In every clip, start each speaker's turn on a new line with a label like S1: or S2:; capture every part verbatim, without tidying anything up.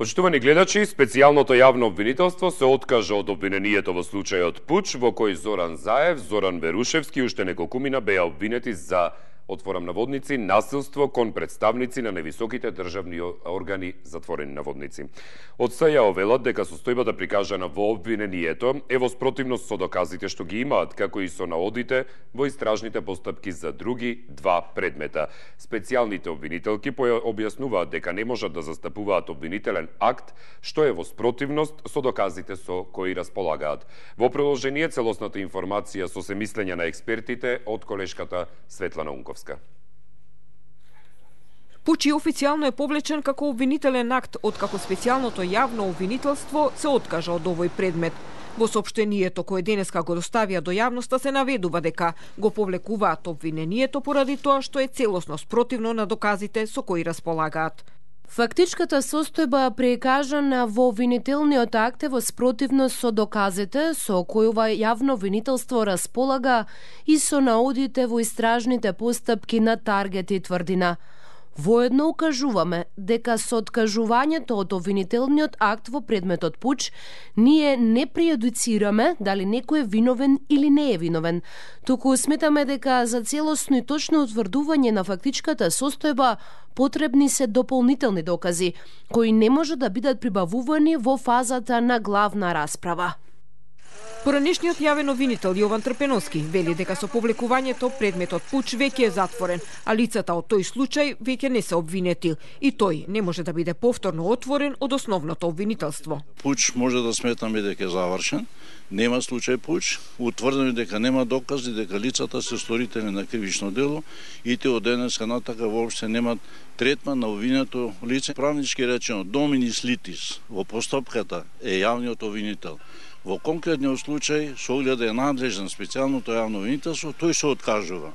S1: Почитувани гледачи, специјалното јавно обвинителство се откажа од обвинението во случајот Пуч, во кој Зоран Заев, Зоран Верушевски и уште неколкумина беа обвинети за, отворам наводници, насилство кон представници на невисоките државни органи, затворени наводници. Од СЈО велат дека состојбата прикажана во обвинението е во спротивност со доказите што ги имаат, како и со наодите во истражните постапки за други два предмета. Специјалните обвинителки објаснуваат дека не можат да застапуваат обвинителен акт што е во спротивност со доказите со кои располагаат. Во продолжение целосната информација со семислење на експертите од колешката Светлана Унковска.
S2: Пуч официјално е повлечен како обвинителен акт, откако специјалното јавно обвинителство се откажа од овој предмет. Во соопштението кое денеска го доставија до јавноста се наведува дека го повлекуваат обвинението поради тоа што е целосно спротивно на доказите со кои располагаат.
S3: Фактичката состојба прикажана во обвинителниот акт е во спротивност со доказите со кои ова јавно обвинителство располага и со наодите во истражните постапки на Таргет и Тврдина. Воедно укажуваме дека со откажувањето од обвинителниот акт во предметот Пуч, ние не прејудицираме дали некој е виновен или не е виновен, туку сметаме дека за целосно и точно утврдување на фактичката состојба потребни се дополнителни докази, кои не може да бидат прибавувани во фазата на главна расправа.
S2: Поранешниот јавен обвинител Јован Трпеновски вели дека со повлекувањето предметот Пуч веќе е затворен, а лицата од тој случај веќе не се обвинети и тој не може да биде повторно отворен од основното обвинителство.
S4: Пуч може да сметаме дека е завршен, нема случај Пуч, утврдено дека нема докази дека лицата се сторители на кривично дело и те од денеска натака воопште немат третман на обвинето лице. Правнички речено, доминис литис во постапката е јавниот обвинител. Во конкретниот случај, со оглед да е надлежен специјалното јавно обвинителство, тој се откажува.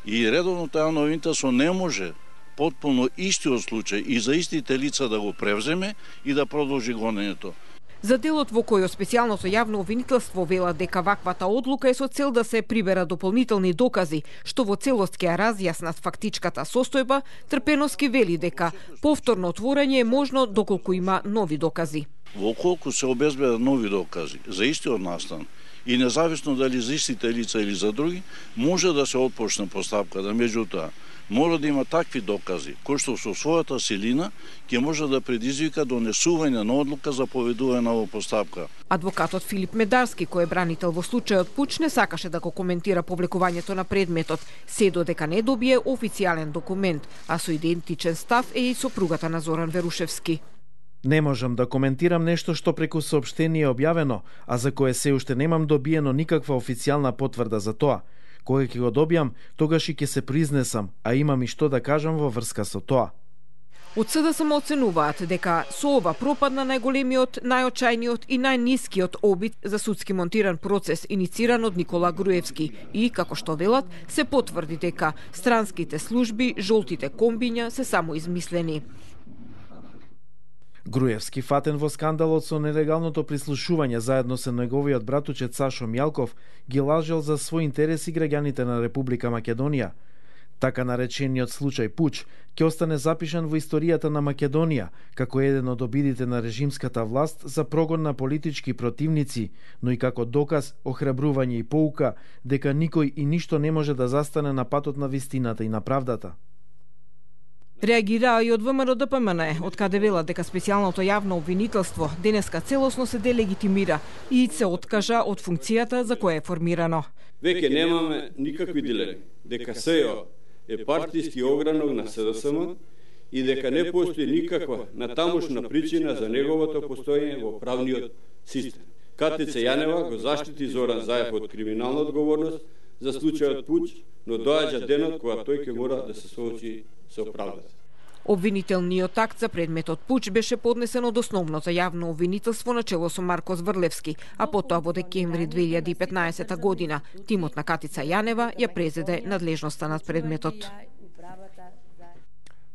S4: И редовното јавно обвинителство не може потполно истиот случај и за истите лица да го превземе и да продолжи гонењето.
S2: За делот во кој специјалното јавно обвинителство вела дека ваквата одлука е со цел да се прибера дополнителни докази, што во целост ќе разјаснат фактичката состојба, Трпеновски вели дека повторно отворање е можно доколку има нови докази.
S4: Во колку се обезбедат нови докази за истиот настан и независно дали за истите лица или за други, може да се отпочне постапката, меѓутоа мора да има такви докази, кои што со својата силина ќе може да предизвика донесување на одлука за поведување на оваа постапка.
S2: Адвокатот Филип Медарски, кој е бранител во случајот Пуч, не сакаше да го коментира повлекувањето на предметот, се додека не добие официјален документ, а со идентичен став е и сопругата на Зоран Верушевски.
S5: Не можам да коментирам нешто што преку соопштение е објавено, а за кое се уште немам добиено никаква официјална потврда за тоа. Кога ќе го добијам, тогаш и ќе се признесам, а имам и што да кажам во врска со тоа.
S2: Од СДСМ оценуваат дека со ова пропадна најголемиот, најочајниот и најнискиот обид за судски монтиран процес инициран од Никола Груевски и, како што велат, се потврди дека странските служби, жолтите комбиња се само измислени.
S5: Груевски, фатен во скандалот со нелегалното прислушување заедно со неговиот братучет Сашо Мјалков, ги лажел за свој интерес и граѓаните на Република Македонија. Така наречениот случај Пуч ќе остане запишан во историјата на Македонија како еден од обидите на режимската власт за прогон на политички противници, но и како доказ, охрабрување и поука дека никој и ништо не може да застане на патот на вистината и на правдата.
S2: Реагираа и од ВМРО Д П М Н, од каде велат дека специјалното јавно обвинителство денеска целосно се делегитимира и се откажа од функцијата за која е формирано.
S6: Веќе немаме никакви дилеми дека СЈО е партиски огранок на СДСМ и дека не постои никаква натамошна причина за неговото постоење во правниот систем. КТЦ Јанева го заштити Зоран Заев од криминална одговорност за случајот Пуч, но доаѓа денот кога тој ќе мора да се соочи со правдата.
S2: Обвинителниот акт за предметот Пуч беше поднесен од основното јавно обвинителство на чело со Марко Зврлевски, а потоа во декември две илјади и петнаесета година тимот на Катица Јанева ја презеде надлежноста над предметот.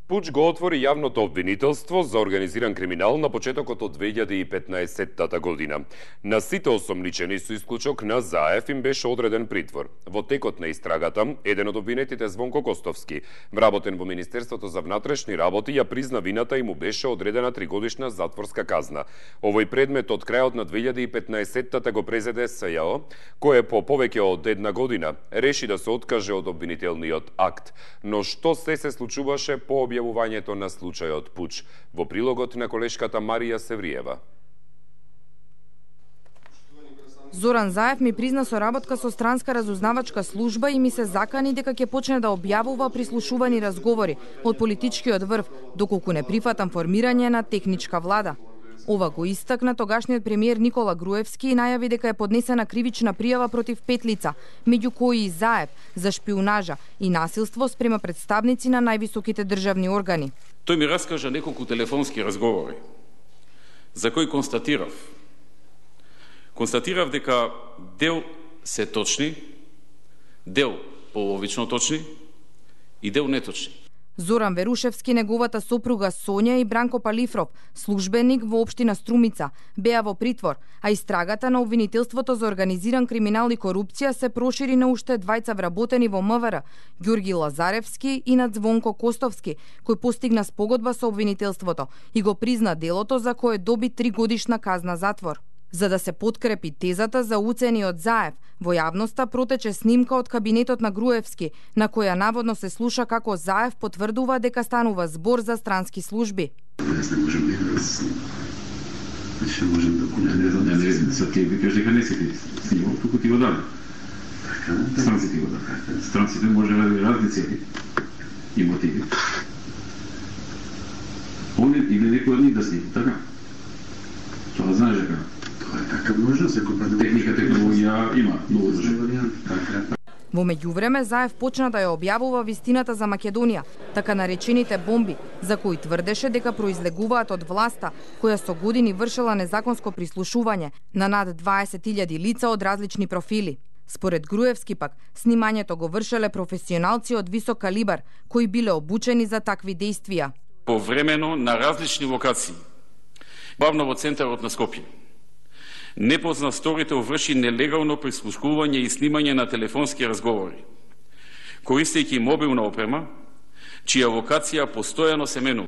S1: Пуч го отвори јавното обвинителство за организиран криминал на почетокот од две илјади и петнаесетта година. На сите осомничени со исклучок на Заев им беше одреден притвор. Во текот на истрагата, еден од обвинетите Звонко Костовски, вработен во Министерството за внатрешни работи, ја призна вината и му беше одредена тригодишна затворска казна. Овој предмет од крајот на две илјади и петнаесетта го презеде СЈО, кој по повеќе од една година реши да се откаже од обвинителниот акт. Но што се се случуваше по објавувањето на случајот Пуч? Во прилогот на колешката Марија Севриева.
S7: Зоран Заев ми призна соработка со странска разузнавачка служба и ми се закани дека ќе почне да објавува прислушувани разговори од политичкиот врв, доколку не прифатам формирање на техничка влада. Ова го истакна тогашниот премиер Никола Груевски и најави дека е поднесена кривична пријава против пет лица, меѓу кои и Заев, за шпиунажа и насилство спрема представници на највисоките државни органи.
S8: Тој ми раскажа неколку телефонски разговори, за кои констатирав. Констатирав дека дел се точни, дел половично точни и дел неточни.
S7: Зоран Верушевски, неговата сопруга Сонја и Бранко Палифров, службеник во општина Струмица, беа во притвор, а истрагата на обвинителството за организиран криминал и корупција се прошири на уште двајца вработени во МВР, Ѓурги Лазаревски и на Звонко Костовски, кој постигна спогодба со обвинителството и го призна делото за кое доби тригодишна казна затвор. За да се подкрепи тезата за уцени од Заев, во јавноста протече снимка од кабинетот на Груевски, на која наводно се слуша како Заев потврдува дека станува збор за странски служби.
S9: Јас не можам да ја Значи не можам да купам. Не знам, не знам, са ти викаш дека не си ти снимал, туку ти го даде. Странци ти го даде. Странците може да разни цели и мотиви. Он или некој од нив да сними, така? Тоа знаеш дека тоа е така може да се купа. Техника, технологија има многу зашто.
S7: Во меѓувреме, Заев почна да ја објавува вистината за Македонија, така наречените бомби, за кои тврдеше дека произлегуваат од власта, која со години вршела незаконско прислушување на над дваесет илјади лица од различни профили. Според Груевски пак, снимањето го вршеле професионалци од висок калибар, кои биле обучени за такви дејствија.
S8: Повремено на различни локации, главно во центарот на Скопје, непознат сторител врши нелегално прислушкување и снимање на телефонски разговори, користејќи мобилна опрема, чија локација постојано се менува.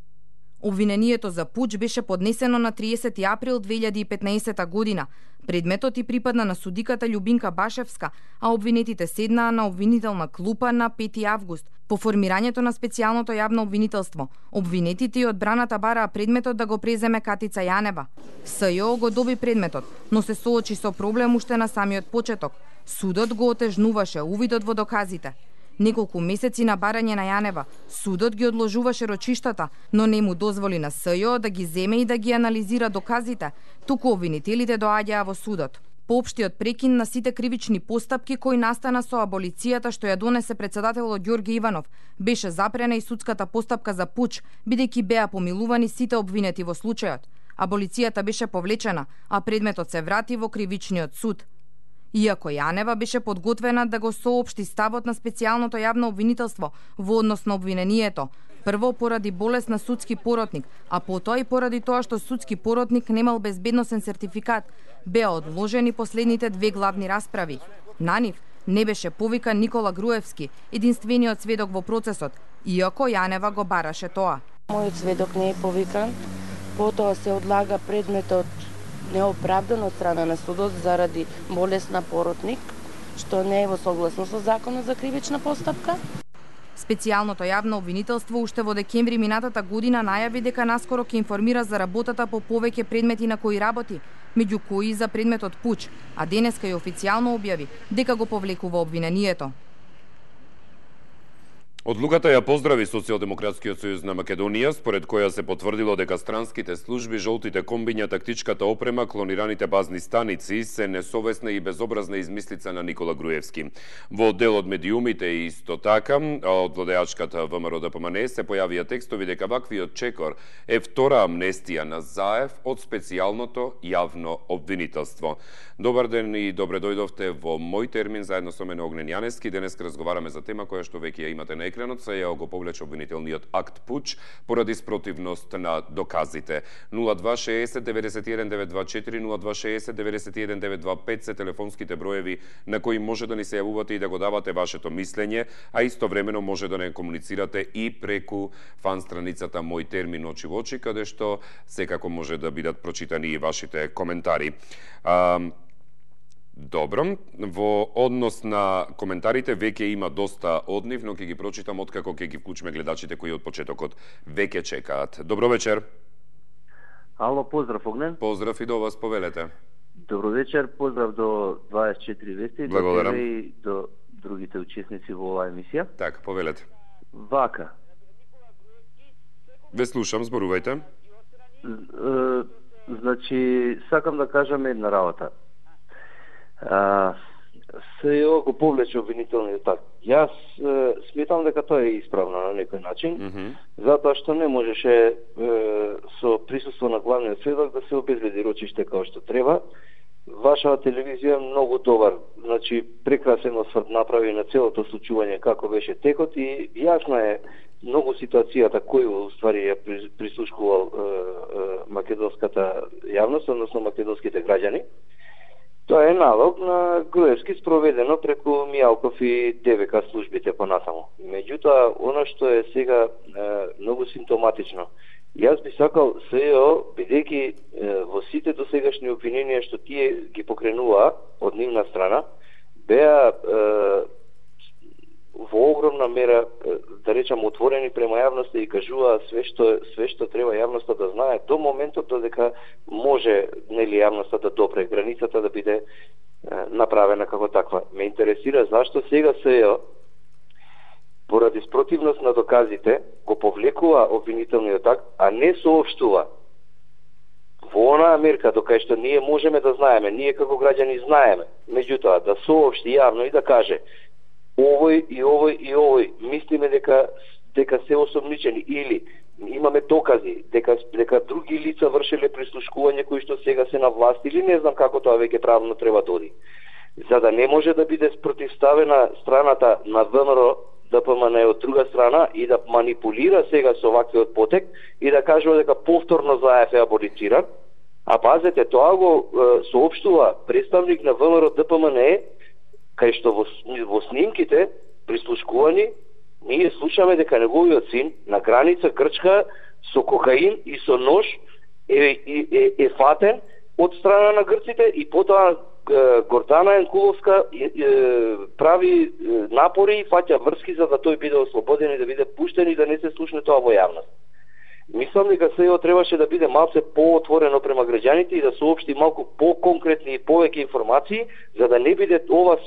S7: Обвинението за пуч беше поднесено на триесети април две илјади и петнаесета година. Предметот и припадна на судиката Љубинка Башевска, а обвинетите седнаа на обвинителна клупа на пети август. По формирањето на специјалното јавно обвинителство, обвинетите и одбраната бараа предметот да го преземе Катица Јанева. СЈО го доби предметот, но се соочи со проблем уште на самиот почеток. Судот го отежнуваше увидот во доказите. Неколку месеци на барање на Јанева, судот ги одложуваше рочиштата, но не му дозволи на СЈО да ги земе и да ги анализира доказите, туку обвинителите доаѓаа во судот. По општиот прекин на сите кривични постапки кои настана со аболицијата што ја донесе председателот Ѓорги Иванов, беше запрена и судската постапка за пуч, бидејќи беа помилувани сите обвинети во случајот. Аболицијата беше повлечена, а предметот се врати во кривичниот суд. Иако Јанева беше подготвена да го соопшти ставот на специјалното јавно обвинителство во однос на обвинението, прво поради болест на судски поротник, а потоа и поради тоа што судски поротник немал безбедносен сертификат, беа одложени последните две главни расправи. На нив не беше повикан Никола Груевски, единствениот сведок во процесот, иако Јанева го бараше тоа.
S10: Мојот сведок не е повикан, потоа се одлага предметот неоправдан од страна на судот заради болест на поротник, што не е во согласност со законот за кривична постапка.
S7: Специјалното јавно обвинителство уште во декември минатата година најави дека наскоро ќе информира за работата по повеќе предмети на кои работи, меѓу кои и за предметот пуч, а денеска и официјално објави дека го повлекува обвинението.
S1: Одлуката ја поздрави Социјалдемократскиот сојуз на Македонија, според која се потврдило дека странските служби, жолтите комбиња, тактичката опрема, клонираните базни станици се несовесна и безобразна измислица на Никола Груевски. Во дел од медиумите и исто така, од владеачката ВМРО Д П М Н се појавија текстови дека ваквиот чекор е втора амнестија на Заев од специјалното јавно обвинителство. Добар ден и добре дојдовте во мој термин заедно со мене Огнен Јанески. Денес разговараме за тема која што веќе ја имате на екранот, СЈО го повлече обвинителниот акт пуч поради спротивност на доказите. нула два шеесет деветдесет и еден девет два четири, нула два шеесет деветдесет и еден девет два пет се телефонските броеви на кои може да ни се јавувате и да го давате вашето мислење, а истовремено може да не комуницирате и преку фан страницата Мој термин очи во очи, каде што секако може да бидат прочитани и вашите коментари. А, Добро, во однос на коментарите веќе има доста од нив, но ќе ги прочитам откако ќе ги вклучиме гледачите кои од почетокот веќе чекаат. Добро вечер.
S11: Ало, поздрав Огнен.
S1: Поздрав и до вас, повелете.
S11: Добро вечер, поздрав до дваесет и четири вести,
S1: благодарам,
S11: и до другите учесници во оваа емисија.
S1: Така, повелете.
S11: Вака.
S1: Ве слушам, зборувајте.
S11: Значи, сакам да кажам една работа. А, СЈО го повлече обвинителниот акт. Јас е, сметам дека тоа е исправно на некој начин, mm -hmm. затоа што не можеше е, со присуство на главниот сведок да се обезбеди рочиште како што треба. Вашава телевизија е многу добар, значи прекрасен осврт направи на целото случување како беше текот и јасна е многу ситуацијата кој уствари ја прислушкувал е, е, македонската јавност, односно македонските граѓани. Тоа е налог на Груевски спроведено преку Мијалков и ДВК службите понатаму. Меѓутоа, оно што е сега е, многу симптоматично, јас би сакал СЈО, бидејќи во сите досегашни обвиненија што тие ги покренуваа од нивна страна, беа е, во огромна мера, да речам, отворени према јавноста и кажуваа све што све што треба јавноста да знае до моментот додека може, нели, јавноста да допре границата да биде е, направена како таква. Ме интересира зашто сега СЈО поради спротивност на доказите го повлекува обвинителниот акт, а не соопштува во онаа мерка до кај што ние можеме да знаеме, ние како граѓани знаеме, меѓутоа да соопшти јавно и да каже овој и овој и овој мислиме дека дека се осомничени или имаме докази дека дека други лица вршеле прислушкување кои што сега се на власт или не знам како тоа веќе правно треба да оди. За да не може да биде спротивставена страната на ВМРО ДПМН од друга страна и да манипулира сега со ваквиот потек и да кажува дека повторно ЗАЕФ е аболициран, а пазете, тоа го е, соопштува представник на ВМРО ДПМН, кај што во, во снимките прислушкувани ние слушаме дека неговиот син на граница Грчка со кокаин и со нож е, е, е, е фатен од страна на грците и потоа Гордана Енкуловска е, е, прави напори и фаќа врски за да тој биде ослободен и да биде пуштен и да не се слушне тоа во јавност. Мислам дека СЈО требаше да биде малце поотворено према граѓаните и да соопшти малку по-конкретни и повеќе информации, за да не биде ова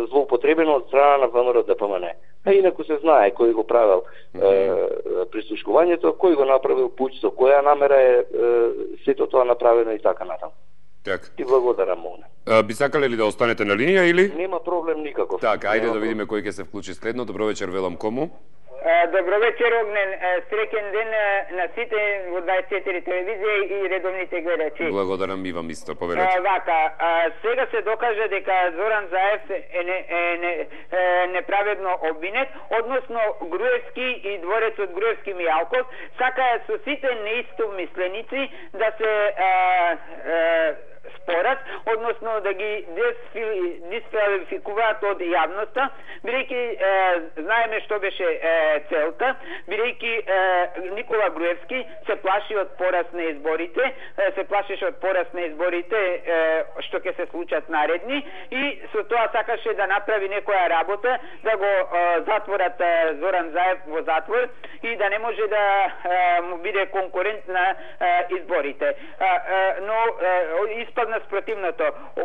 S11: злоупотребено од страна на ВМРО ДПМН. А инаку се знае кој го правил mm -hmm. е, прислушкувањето, кој го направил пуч, со која намера е, е сето тоа направено и така натаму.
S1: Так.
S11: Ти благодарам, Мона.
S1: Би сакале ли да останете на линија или?
S11: Нема проблем никаков.
S1: Така, ајде да видиме кој ќе се вклучи следно. Добро вечер, велам кому?
S12: Добро вечер, Огнен. Среќен ден на сите во дваесет и четири телевизија и редовните гледачи.
S1: Благодарам и вам исто, повелете.
S12: Вака, сега се докажа дека Зоран Заев е, не, е, не, е неправедно обвинет, односно Груевски и дворецот Груевски Мијалков сакаат со сите неистомисленици да се а, а, спорат, односно да ги дисквалификуваат од јавноста, бидејќи знаеме што беше е, целта, бидејќи Никола Груевски се плаши од пораз на изборите, е, се плашеше од пораз на изборите е, што ќе се случат наредни и со тоа сакаше да направи некоја работа, да го е, затворат е, Зоран Заев во затвор и да не може да е, му биде конкурент на е, изборите. Е, е, но е, испадна спротивното.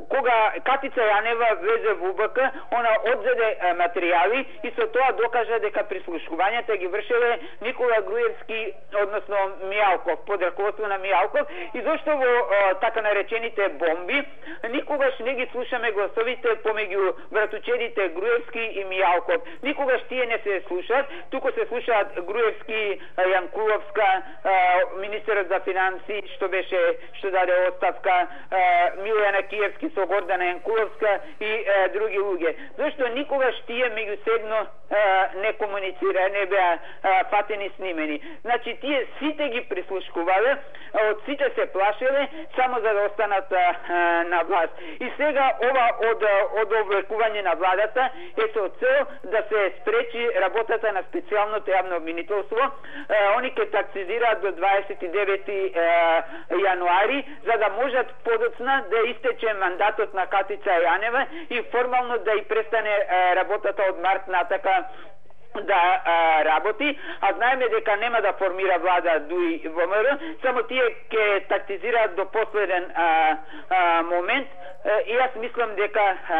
S12: Кога Катица Јанева влезе во УБК, она одзеде материјали и со тоа докажа дека прислушкувањата ги вршеле Никола Груевски, односно Мијалков, под раководство на Мијалков, и зашто во о, така наречените бомби никогаш не ги слушаме гласовите помеѓу братучедите Груевски и Мијалков. Никогаш тие не се слушаат, туку се слушаат Груевски, Јанкуловска, министерот за финансии што беше што даде оставка, Милојана Киевски со Гордана Јанкуловска и е, други луѓе. Зашто никогаш тие меѓусебно не комуницира, не беа фатени, снимени. Значи тие сите ги прислушкувале, од сите се плашеле само за да останат а, на власт. И сега ова од од облекување на владата е со цел да се спречи работата на специјалното јавно обвинителство. А, они ќе таксизираат до дваесет и девети јануари, за да можат подоцна да истече мандатот на Катица Јанева и формално да и престане а, работата од март натака да а, работи, а знаеме дека нема да формира влада ДУИ ВМРО, само тие ќе тактизираат до последен а, а, момент. И јас мислам дека а,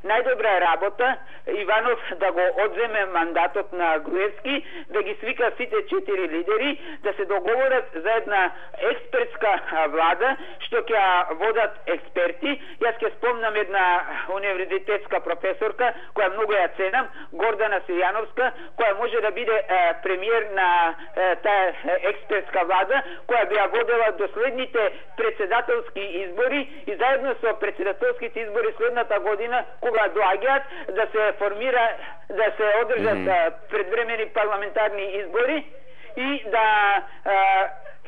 S12: најдобра работа Иванов да го одземе мандатот на Груевски, да ги свика сите четири лидери, да се договорат за една експертска влада, што ќе водат експерти. Јас ќе спомнам една универзитетска професорка, која многу ја ценам, Гордана Силјановска, која може да биде е, премиер на е, таа експертска влада, која би ја водела до следните председателски избори и заедно со председателските избори следната година, кога доаѓаат, да се формира, да се одржат mm-hmm. предвремени парламентарни избори и да е,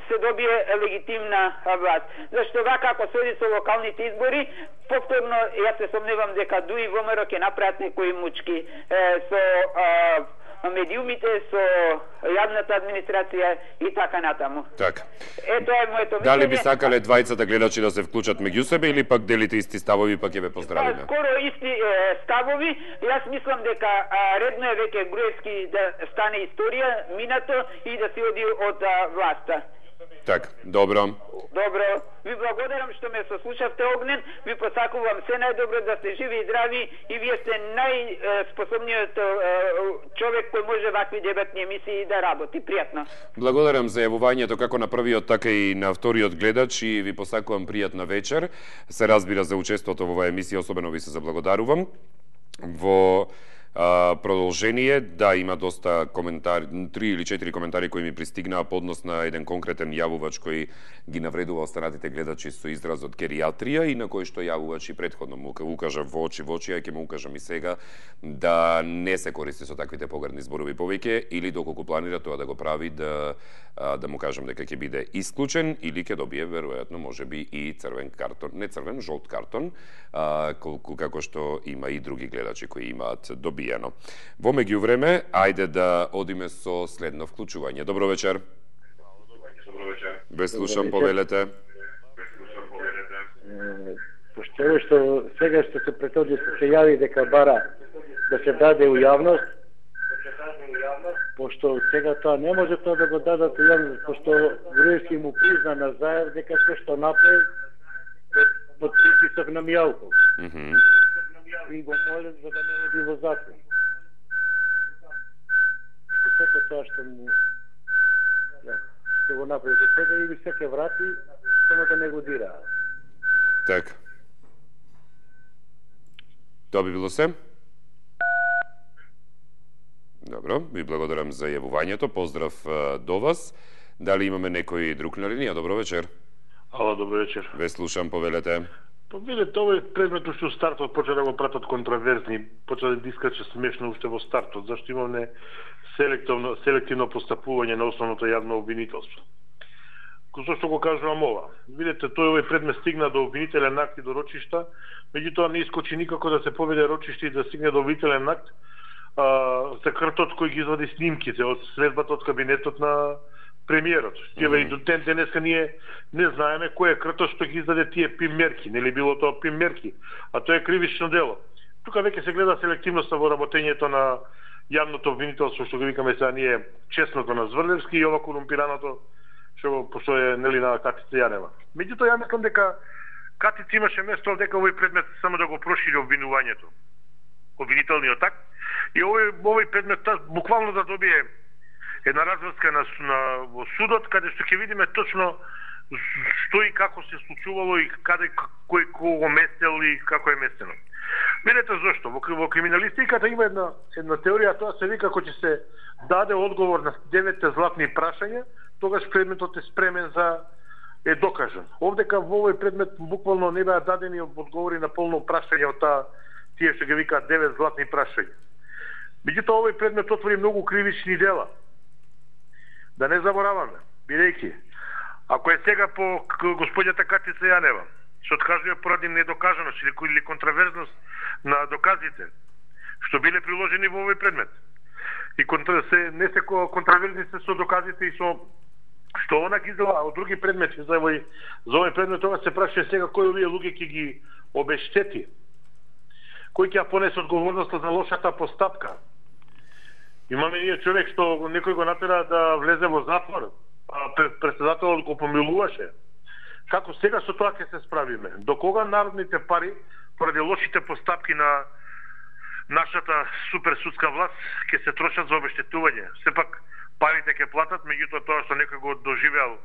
S12: се добие легитимна власт. Зашто вака ако се оди со локалните избори, повторно јас се сомневам дека ДУИ ВМРО ќе направат некои мучки е, со е, медиумите, со јавната администрација и така натаму.
S1: Така.
S12: Ето е моето мислење.
S1: Дали би сакале двајцата гледачи да се вклучат меѓу себе или пак делите исти ставови, пак ќе ве поздравиме?
S12: Скоро исти е, ставови. Јас мислам дека а, редно е веќе Груевски да стане историја, минато и да се оди од а, власта.
S1: Так, добро.
S12: Добро. Ви благодарам што ме сослушавте, Огнен. Ви посакувам се најдобро, да сте живи и здрави и вие сте најспособниот човек кој може вакви дебатни емисии да работи. Пријатно.
S1: Благодарам за јавувањето како на првиот, така и на вториот гледач и ви посакувам пријатна вечер. Се разбира за учеството во оваа емисија, особено ви се заблагодарувам. Во Uh, продолжение, да, има доста коментари, три или четири коментари кои ми пристигнаа по однос на еден конкретен јавувач кој ги навредува останатите гледачи со изразот гериатрија и на кој што јавувач и претходно му укажа во очи во очи, а ќе му укажам и сега да не се користи со таквите погрдни зборови повеќе или доколку планира тоа да го прави, да да му кажам дека ќе биде исклучен или ќе добие веројатно можеби и црвен картон, не црвен, жолт картон, а, колку како што има и други гледачи кои имаат добиено. Во меѓувреме, ајде да одиме со следно вклучување. Добро вечер. Добро вечер. Ве слушам, повелете.
S13: Пошто што сега што се претоди се јави дека бара да се даде у јавност, пошто сега тоа не може тоа да го дадат у јавност, пошто Груевски му призна на Заев дека се што направи под притисок на Мијалков.
S1: Mm -hmm.
S13: И го молят за да не оди во затвор. Сето тоа што му да, што го направи до сега и се ќе врати, само да не го дира.
S1: Така. Тоа би било се? Добро, ви благодарам за јавувањето. Поздрав до вас. Дали имаме некој друг на линија? Добро вечер.
S14: Ало, добро вечер.
S1: Ве слушам, повелете.
S14: Па видите, овој предмет што стартот почна да го пратат контраверзни, почна да дискаче смешно уште во стартот, зашто имаме селективно селективно постапување на основното јавно обвинителство. Зошто го кажувам ова? Видите, тој овој предмет стигна до обвинителен акт и до рочишта, меѓутоа не искочи никако да се поведе рочиште и да стигне до обвинителен акт а, за картот кој ги извади снимките од следбата од кабинетот на премиерот. Тие mm -hmm. и до ден денеска ние не знаеме кој е кртот што ги издаде тие пим мерки, нели било тоа пим мерки, а тоа е кривично дело. Тука веќе се гледа селективноста во работењето на јавното обвинителство, што го викаме сега ние честното на Зврлевски и ова корумпираното што постоje нели на Катица Јанева. Меѓутоа ја мислам дека Катица имаше место дека овој предмет само да го прошири обвинувањето, обвинителниот акт, и овој овој предмет буквално да добие една разврска на, на во судот, каде што ќе видиме точно што и како се случувало и каде кој кого местел и како е местено. Видете зошто во, во криминалистиката има една една теорија, тоа се вика кога ќе се даде одговор на деветте златни прашања, тогаш предметот е спремен за е докажан. Овдека во овој предмет буквално не беа дадени одговори на полно прашање од таа тие што ги викаат девет златни прашања. Меѓутоа овој предмет отвори многу кривични дела. Да не забораваме, бидејќи ако е сега по господјата Катица Јанева, се откажува поради недокажаност или контраверзност на доказите што биле приложени во овој предмет. И контра, се, не се контраверзни се со доказите и со што она ги издела од други предмети за овој, за овој предмет, тоа се прашува сега кој овие луѓе ќе ги обештети, кој ќе ја понесе одговорноста за лошата постапка. Имаме ние човек што некој го натера да влезе во затвор, а председателот го помилуваше. Како сега со тоа ќе се справиме? До кога народните пари поради лошите постапки на нашата суперсудска власт ќе се трошат за обештетување? Сепак парите ќе платат, меѓутоа тоа што некој го доживеал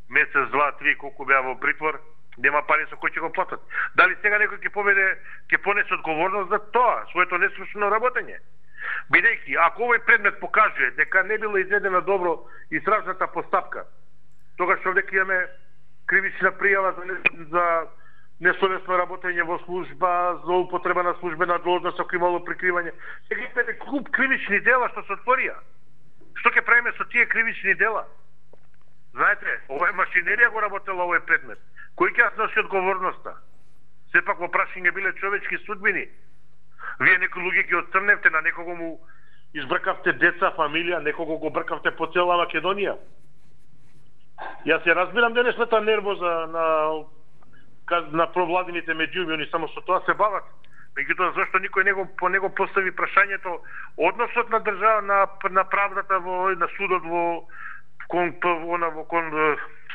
S14: месец, два, три, колку беа во притвор, нема пари со кои ќе го платат. Дали сега некој ќе поведе, ќе понесе одговорност за тоа, своето несвршено работење? Бидејќи, ако овој предмет покажува дека не била изведена добро истражната постапка, тогаш овдека имаме кривична пријава за, за несовесно работење во служба, за употреба на службена должност, ако имало прикривање. Сега имаме клуб кривични дела што се отворија. Што ќе правиме со тие кривични дела? Знаете, ова е машинерија го работела овој предмет. Кој ќе носи одговорноста? Сепак во прашање биле човечки судбини. Вие некои луѓе ги отцрневте, на некого му избркавте деца, фамилија, некого го бркавте по цела Македонија. Јас ја разбирам денешната нервоза на на провладините медиуми, они само со тоа се бават. Меѓутоа, зашто никој него по него постави прашањето односот на држава на на правдата во на судот во кон во, во кон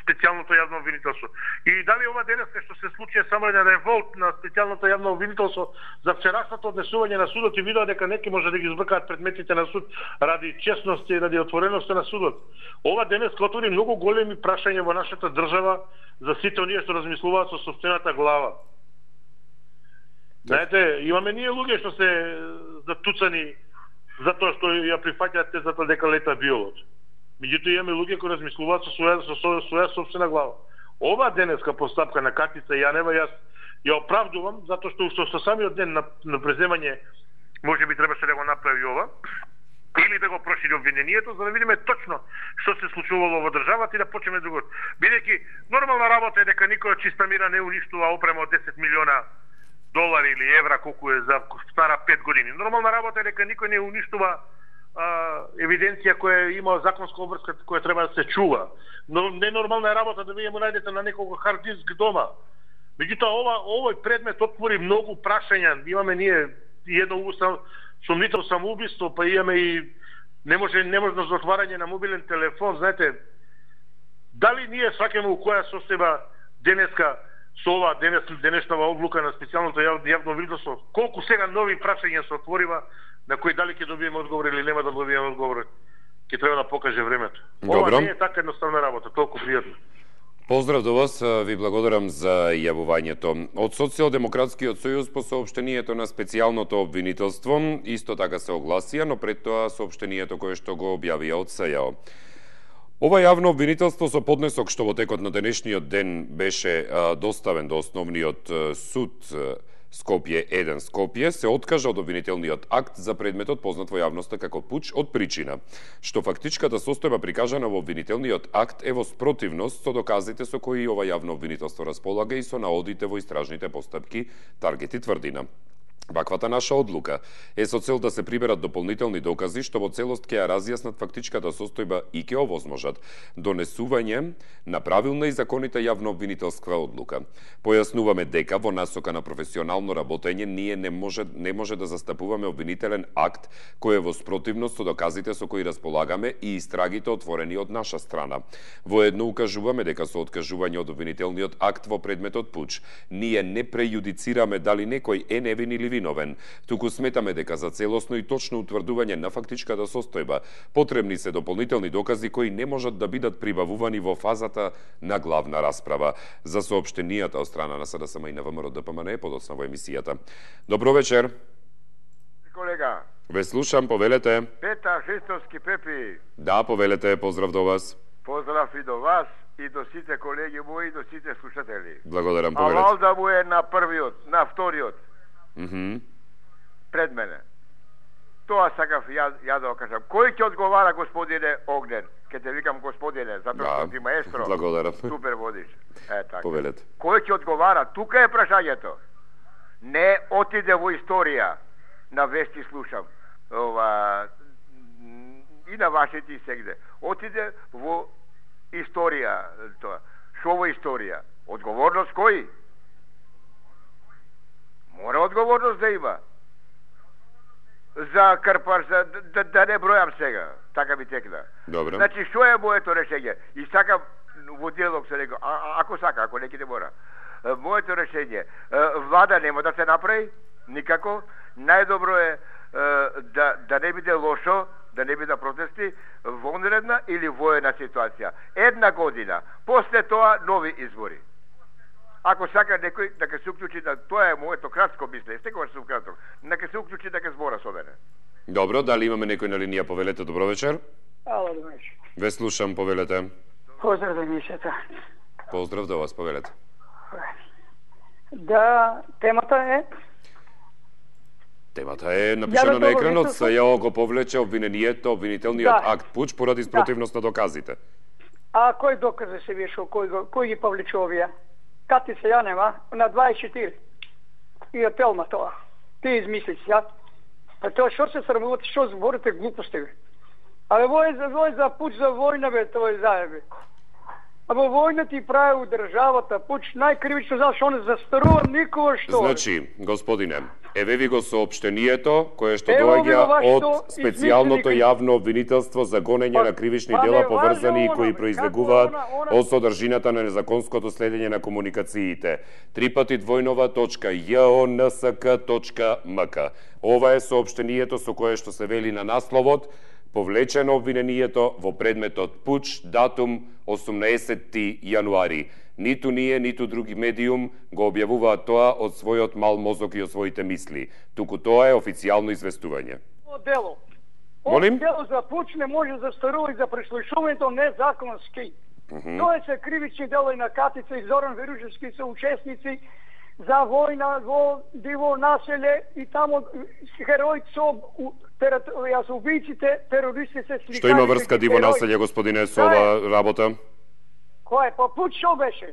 S14: специјалното јавно обвинителство. И дали ова денеска што се случи е само еден револт на специјалното јавно обвинителство за вчерашното однесување на судот и видоа дека неки може да ги избркаат предметите на суд ради честност и ради отвореност на судот. Ова денеска отвори многу големи прашања во нашата држава за сите оние што размислуваат со сопствената глава. Знаете, имаме ние луѓе што се затуцани затоа што ја прифаќаат тезата дека лета биолот. Меѓутоа имаме луѓе кои размислуваат со своја со своја сопствена глава. Ова денеска постапка на Катица Јанева јас ја оправдувам затоа што уште со самиот ден на, на преземање можеби требаше да го направи ова или да го прошири обвинението за да видиме точно што се случувало во државата и да почнеме другото. Бидејќи нормална работа е дека никој од чиста мира не уништува опрема од десет милиона долари или евра колку е за стара пет години. Нормална работа е дека никој не уништува а, евиденција која има законска обврска која треба да се чува. Но ненормална е работа да вие му најдете на некого хард диск дома. Меѓутоа ова овој предмет отвори многу прашања. Имаме ние едно сомнително самоубиство, па имаме и не може неможност за отварање на мобилен телефон. Знаете, дали ние сваќаме у која состојба денеска со ова денес, денешнава одлука на специјалното јавно обвинителство, колку сега нови прашања се отворива, на кои дали ќе добиеме одговор или нема да добиеме одговор, ќе треба да покаже времето. Ова не е така едноставна работа, толку пријатно.
S1: Поздрав до вас, ви благодарам за јавувањето. Од Социјалдемократскиот сојуз по соопштението на специјалното обвинителство исто така се огласија, но пред тоа соопштението кое што го објавија од СЈАО. Ова јавно обвинителство со поднесок што во текот на денешниот ден беше а, доставен до основниот а, суд а, Скопје еден Скопје се откажа од обвинителниот акт за предметот познат во јавноста како пуч од причина што фактичката состојба прикажана во обвинителниот акт е во спротивност со доказите со кои ова јавно обвинителство располага и со наодите во истражните постапки Таргет и Тврдина. Ваквата наша одлука е со цел да се приберат дополнителни докази што во целост ќе ја разјаснат фактичката состојба и ќе овозможат донесување на правилна и законита јавно обвинителска одлука. Појаснуваме дека во насока на професионално работење ние не може не може да застапуваме обвинителен акт кој е во спротивност со доказите со кои располагаме и истрагите отворени од наша страна. Воедно укажуваме дека со откажување од обвинителниот акт во предметот пуч ние не прејудицираме дали некој е невин или виновен, туку сметаме дека за целосно и точно утврдување на фактичката состојба потребни се дополнителни докази кои не можат да бидат прибавувани во фазата на главна расправа. За соопштенијата од страна на СДСМ и на ВМРО Д П М Н е подоцна во емисијата. Добро вечер.
S15: Колега.
S1: Ве слушам, повелете.
S15: Петар Христовски Пепи.
S1: Да, повелете, поздрав до вас.
S15: Поздрав и до вас. и до сите колеги мои, и до сите слушатели.
S1: Благодарам,
S15: А
S1: повелете.
S15: валда му е на првиот, на вториот
S1: Мгм.
S15: пред мене. Тоа сакав ја, ја да го кажам. Кој ќе одговара, господине Огнен? Ке те викам господине, затоа што
S1: Да,
S15: ти маестро.
S1: благодарам.
S15: Супер водиш. Е, така.
S1: Повелете.
S15: Кој ќе одговара? Тука е прашањето. Не отиде во историја. На вести слушам. Ова, и на вашите и сегде. Отиде во историја тоа. Шо во историја? Одговорност кој? Мора одговорност да има. За Карпар, за, да, да не бројам сега. Така ми текна.
S1: Добро.
S15: Значи, што е моето решење? И сакам во диалог се рекол, а, а, ако сака, ако неки не мора. Е, моето решење, е, влада нема да се направи, никако. Најдобро е, е да, да не биде лошо, да не биде протести, вонредна или воена ситуација. Една година, после тоа нови избори. Ако сака некој дека се уклучи, да тоа е моето кратко мислење, секогаш сум краток, нека се уклучи дека збора со мене.
S1: Добро, дали имаме некој на линија, повелете, добро вечер.
S16: Ало, добро вечер.
S1: Ве слушам, повелете.
S16: Поздрав до емисијата.
S1: Поздрав до вас, повелете.
S16: Да, темата е...
S1: Темата е напишана на екранот, СЈО го повлече обвинението, обвинителниот
S16: Да.
S1: акт пуч поради спротивност на доказите.
S16: А кој доказа се вешо, кој, го- кој ги повлече овие? Кати се ја нема, на дваесет и четири. И апелма тоа. Ти измисли си, ја. Па тоа што се срамувате, што зборите глупости, бе? Абе, вој за вој за пуч за војна, бе, тоа е заебе. Абе, војна ти прави у државата, пуч најкривично, зашто он застарува никога што.
S1: Значи, господине, еве ви го соопштението кое што
S16: Ево ви
S1: доаѓа
S16: го вашето
S1: од специјалното
S16: измислени-
S1: јавно обвинителство за гонење на кривични
S16: па не
S1: дела
S16: важи
S1: поврзани и
S16: она,
S1: кои
S16: бе,
S1: произлегуваат
S16: како она-
S1: од содржината на незаконското следење на комуникациите. Три пати двојнова точка јонск точка мк. Ова е соопштението со кое што се вели на насловот повлечено обвинението во предметот пуч, датум осумнаесети јануари. Ниту ние, ниту други медиум го објавуваат тоа од својот мал мозок и од своите мисли. Туку тоа е официјално известување.
S16: Ово дело.
S1: Молим?
S16: Ово дело за пуч не може да старува и за преслушувањето незаконски.
S1: Мгм.
S16: Тоа се кривични дела и на Катица и Зоран Верушевски се учесници за војна во диво населе и тамо хероите со у- терат- ја со убијците, терористите се
S1: Што има врска диво населје, господине, со ова работа?
S16: Кој е? Па пуч што беше?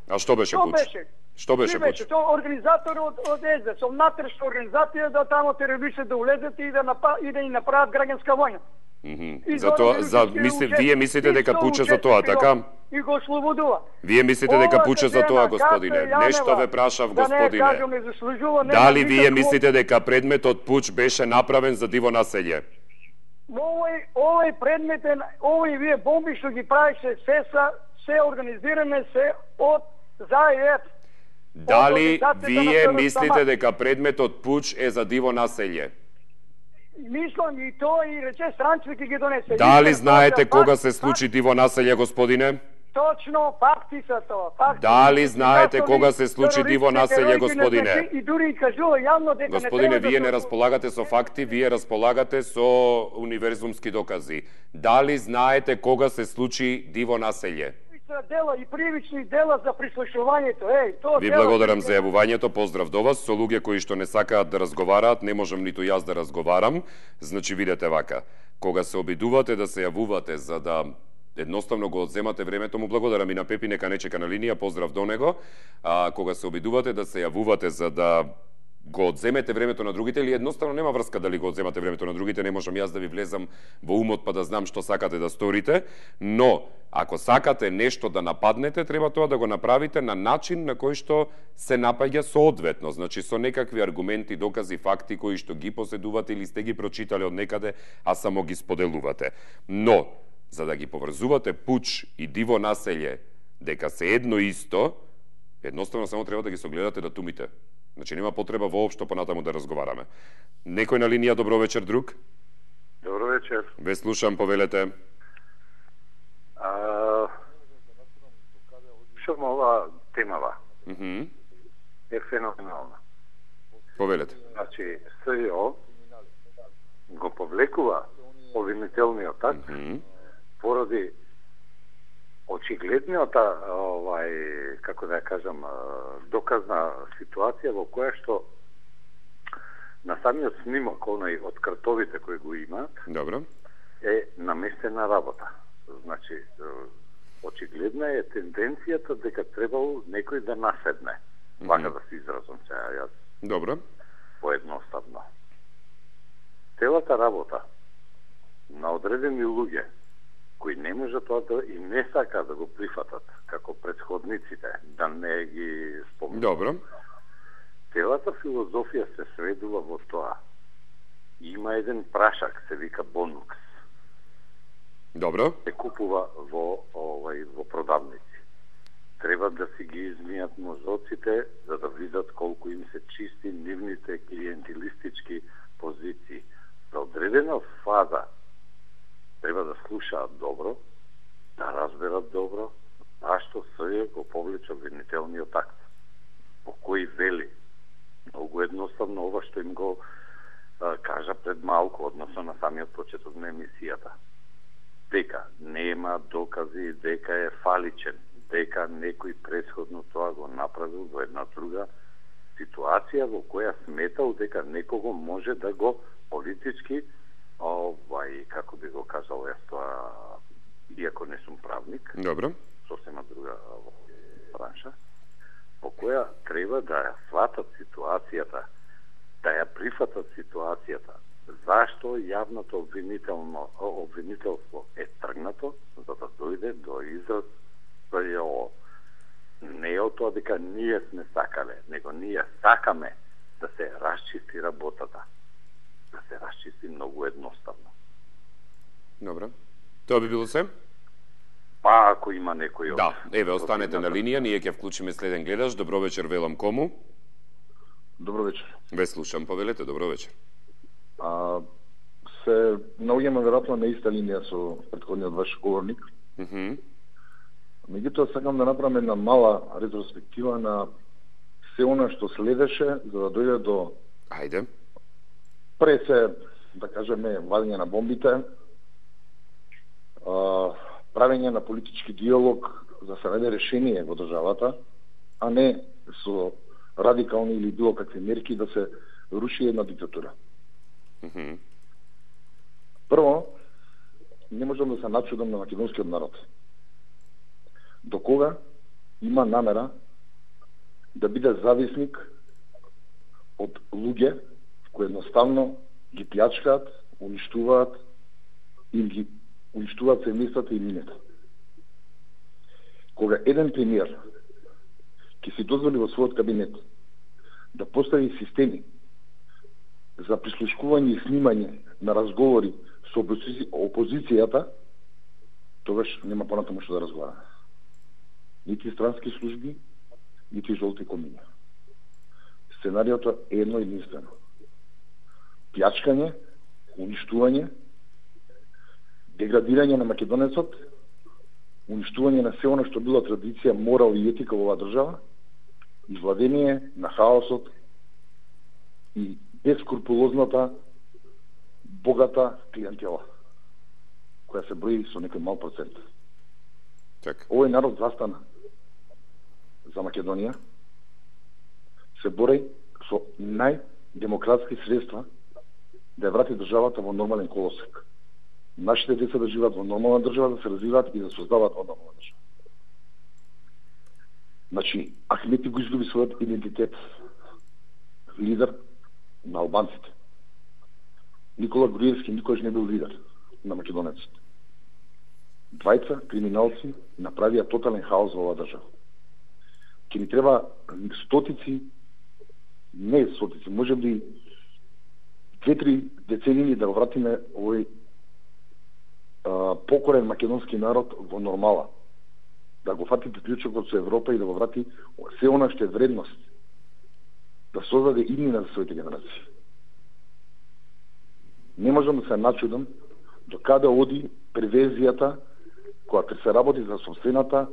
S1: А што беше
S16: Што
S1: пуч?
S16: беше?
S1: Што беше
S16: Ти
S1: пуч?
S16: Тоа организатор од од ес де ес, внатрешна организација да тамо терористите да улезат и да напа, и да ни направат граѓанска војна.
S1: Мгм.
S16: И
S1: За тоа,
S16: Зоран
S1: за
S16: Верушевски
S1: мисли,
S16: учесник,
S1: вие мислите
S16: и
S1: дека
S16: со
S1: пуче за тоа,
S16: учесник
S1: така?
S16: И го ослободува.
S1: Вие мислите дека
S16: Ова
S1: пуче за
S16: жена,
S1: тоа, господине?
S16: Катја
S1: Нешто ве
S16: Јанева,
S1: прашав,
S16: Да не
S1: господине.
S16: кажам, не заслужува, нема
S1: Дали вие
S16: никакво-
S1: мислите дека предметот пуч беше направен за диво населје?
S16: Овој, овој предметен, овој вие бомби што ги правише се са, се организиране се од ЗАЕФ.
S1: Дали
S16: Организацијата
S1: вие
S16: на Србска
S1: мислите
S16: маса.
S1: дека предметот пуч е за диво населје?
S16: Мислам и тоа и рече странците ќе ги донесе.
S1: Дали
S16: Истина,
S1: знаете
S16: факт-
S1: кога се случи диво населје, господине?
S16: Точно, факти са тоа. Факти.
S1: Дали знаете
S16: Како
S1: кога
S16: ни
S1: се случи диво
S16: терористите,
S1: населје,
S16: героите на
S1: господине?
S16: Зечи И дури и кажува јавно дека
S1: Господине,
S16: не треба
S1: вие
S16: да
S1: не
S16: се-
S1: располагате со факти, вие располагате со универзумски докази. Дали знаете кога се случи диво населје?
S16: дела и привични дела за прислушувањето. Еј, тоа
S1: Ви
S16: дела-
S1: благодарам за јавувањето, поздрав до вас. Со луѓе кои што не сакаат да разговараат, не можам ниту јас да разговарам. Значи, видете вака, кога се обидувате да се јавувате за да едноставно го одземате времето, му благодарам и на Пепи, нека не чека на линија, поздрав до него. А, кога се обидувате да се јавувате за да го одземете времето на другите, или едноставно нема врска дали го одземате времето на другите, не можам јас да ви влезам во умот па да знам што сакате да сторите, но ако сакате нешто да нападнете, треба тоа да го направите на начин на кој што се напаѓа соодветно, значи со некакви аргументи, докази, факти кои што ги поседувате или сте ги прочитале од некаде, а само ги споделувате. Но, за да ги поврзувате пуч и диво населје дека се едно исто, едноставно само треба да ги согледате датумите. Значи нема потреба воопшто понатаму да разговараме. Некој на линија, добро вечер, друг?
S17: Добро вечер.
S1: Ве слушам, повелете.
S17: А, шо ова темава
S1: Мгм.
S17: е феноменална.
S1: Повелете.
S17: Значи, СЈО го повлекува обвинителниот акт
S1: Мгм.
S17: поради очигледниот овај, како да ја кажам, доказна ситуација во која што на самиот снимок оној од картовите кои го имаат,
S1: добро,
S17: е наместена работа. Значи, очигледна е тенденцијата дека требало некој да наседне. Вака да се изразам сега јас.
S1: Добро.
S17: Поедноставно. Целата работа на одредени луѓе кои не можат тоа да и не сака да го прифатат како претходниците, да не ги спомнат.
S1: Добро.
S17: Целата филозофија се сведува во тоа. Има еден прашак, се вика бонукс.
S1: Добро.
S17: Се купува во овај во продавници. Треба да си ги измијат мозоците за да видат колку им се чисти нивните клиентилистички позиции. За одредена фаза треба да слушаат добро, да разберат добро, зашто СЈ го повлече обвинителниот акт, по кој вели многу едноставно ова што им го а, кажа пред малку, односно на самиот почеток на емисијата. Дека нема докази, дека е фаличен, дека некој претходно тоа го направил во една друга ситуација во која сметал дека некого може да го политички, овај, како би го кажал јас тоа, иако не сум правник,
S1: добро,
S17: сосема друга бранша, по која треба да ја сватат ситуацијата, да ја прифатат ситуацијата, зашто јавното обвинително обвинителство е тргнато, за да дојде до израз СЈО. Не е од тоа дека ние сме сакале, него ние сакаме да се расчисти работата. Да се расчисти многу едноставно.
S1: Добро. Тоа би било се?
S17: Па, ако има некој...
S1: Да, еве, останете на линија, ние ќе вклучиме следен гледач. Добро вечер, велам кому?
S18: Добро вечер.
S1: Ве слушам, повелете, добро вечер.
S18: А, се наоѓаме веројатно на иста линија со претходниот ваш говорник.
S1: Mm -hmm.
S18: Меѓутоа, сакам да направам една мала ретроспектива на се она што следеше за да дојде до...
S1: Ајде.
S18: Пред се, да кажеме, вадење на бомбите, а, правење на политички диалог за се најде решение во државата, а не со радикални или било какви мерки да се руши една диктатура.
S1: Mm -hmm.
S18: Прво, не можам да се начудам на македонскиот народ. До кога има намера да биде зависник од луѓе кои едноставно ги плячкаат, уништуваат, им ги уништуваат семејствата и минето. Кога еден премиер ќе си дозволи во својот кабинет да постави системи за прислушкување и снимање на разговори со опозицијата, тогаш нема понатаму што да разговара. Нити странски служби, нити жолти комиња. Сценариото е едно единствено. Плячкање, уништување, деградирање на македонецот, уништување на се оно што било традиција, морал и етика во оваа држава, и владение на хаосот и бескрупулозната, богата клиентела, која се брои со некој мал процент.
S1: Так.
S18: Овој народ застана за Македонија, се бори со најдемократски средства да ја врати државата во нормален колосек. Нашите деца да живеат во нормална држава, да се развиваат и да создаваат во нормална држава. Значи, Ахмети го изгуби својот идентитет. Лидер на албанците. Никола Груевски никош не бил лидер на македонеците. Двајца криминалци направија тотален хаос во оваа држава. Ке ни треба стотици, не стотици, може би две-три децении да го вратиме овој а, покорен македонски народ во нормала. Да го фати приклучокот со Европа и да го врати се она што е вредност. Да создаде иднина за своите генерации. Не можам да се начудам до каде оди превезијата која се работи за собствената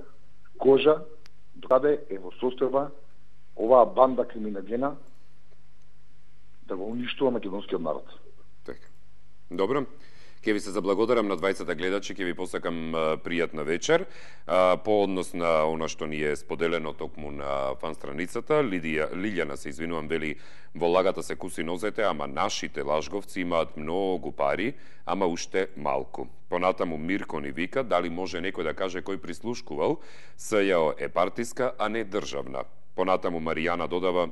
S18: кожа, до каде е во состојба оваа банда криминогена да го уништува македонскиот народ.
S1: Така. Добро. Ке ви се заблагодарам на двајцата гледачи, ке ви посакам пријатна вечер. По однос на она што ни е споделено токму на фан страницата, Лидија, Лилјана се извинувам, вели во лагата се куси нозете, ама нашите лажговци имаат многу пари, ама уште малку. Понатаму Мирко ни вика, дали може некој да каже кој прислушкувал, СЈО е партиска, а не државна. Понатаму Маријана додава,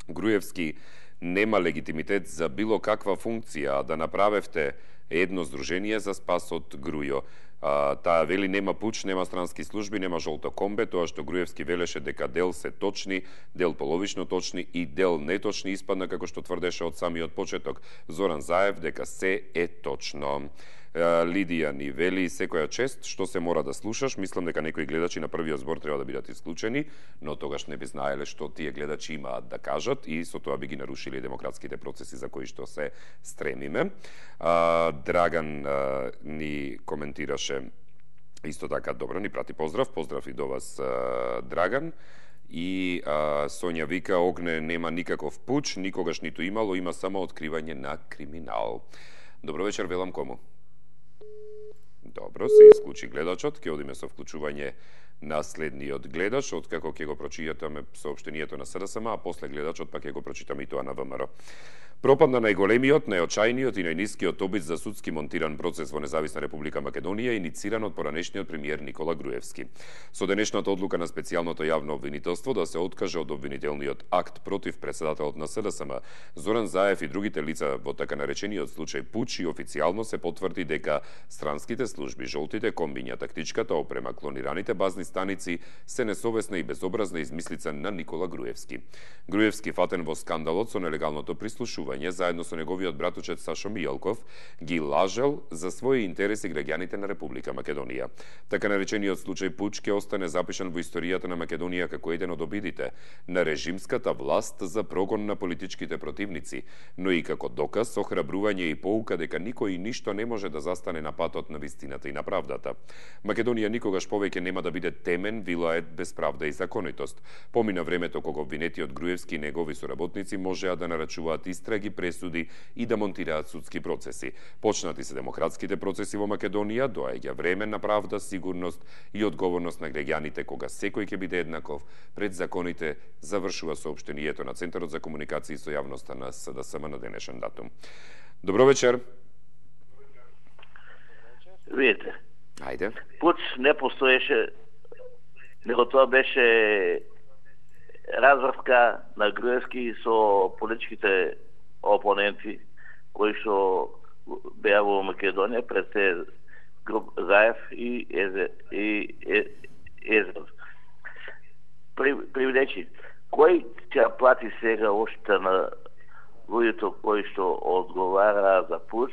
S1: Груевски нема легитимитет за било каква функција, а да направевте едно здружение за спас од Грујо. А, таа вели нема пуч, нема странски служби, нема жолто комбе, тоа што Груевски велеше дека дел се точни, дел половично точни и дел неточни испадна како што тврдеше од самиот почеток Зоран Заев дека се е точно. Лидија ни вели, секоја чест што се мора да слушаш, мислам дека некои гледачи на првиот збор треба да бидат исклучени, но тогаш не би знаеле што тие гледачи имаат да кажат и со тоа би ги нарушили демократските процеси за кои што се стремиме. Драган ни коментираше исто така, добро, ни прати поздрав, поздрав и до вас, Драган. И а, Сонја вика, Огне нема никаков пуч, никогаш ниту имало, има само откривање на криминал. Добро вечер, велам кому? Добро, се исклучи гледачот, ќе одиме со вклучување на следниот гледач, откако ќе го прочитаме соопштението на СДСМ, а после гледачот пак ќе го прочитаме и тоа на ВМРО. Пропадна најголемиот, најочајниот и најнискиот обид за судски монтиран процес во Независна Република Македонија, инициран од поранешниот премиер Никола Груевски. Со денешната одлука на специјалното јавно обвинителство да се откаже од обвинителниот акт против председателот на СДСМ, Зоран Заев и другите лица во така наречениот случај пуч, и официјално се потврди дека странските служби, жолтите комбиња, тактичката опрема, клонираните базни станици се несовесна и безобразна измислица на Никола Груевски. Груевски, фатен во скандалот со нелегалното прислушување, заедно со неговиот братучет Сашо Мијалков, ги лажел за своји интереси граѓаните на Република Македонија. Така наречениот случај пуч ќе остане запишан во историјата на Македонија како еден од обидите на режимската власт за прогон на политичките противници, но и како доказ, охрабрување и поука дека никој и ништо не може да застане на патот на вистината и на правдата. Македонија никогаш повеќе нема да биде темен вилает без правда и законитост. Помина времето кога обвинетиот Груевски и негови соработници можеа да нарачуваат истраги, пресуди и да монтираат судски процеси. Почнати се демократските процеси во Македонија, доаѓа време на правда, сигурност и одговорност на граѓаните кога секој ќе биде еднаков пред законите, завршува соопштението на Центарот за комуникации со јавноста на СДСМ на денешен датум. Добро вечер.
S19: Видите.
S1: Ајде.
S19: Пуч не постоеше, него тоа беше развртка на Груевски со политичките опоненти кои што беа во Македонија пред те груп Заев и Езер. И Езер. Привлечи. Кој ќе плати сега ошта на луѓето кои што одговара за пуч,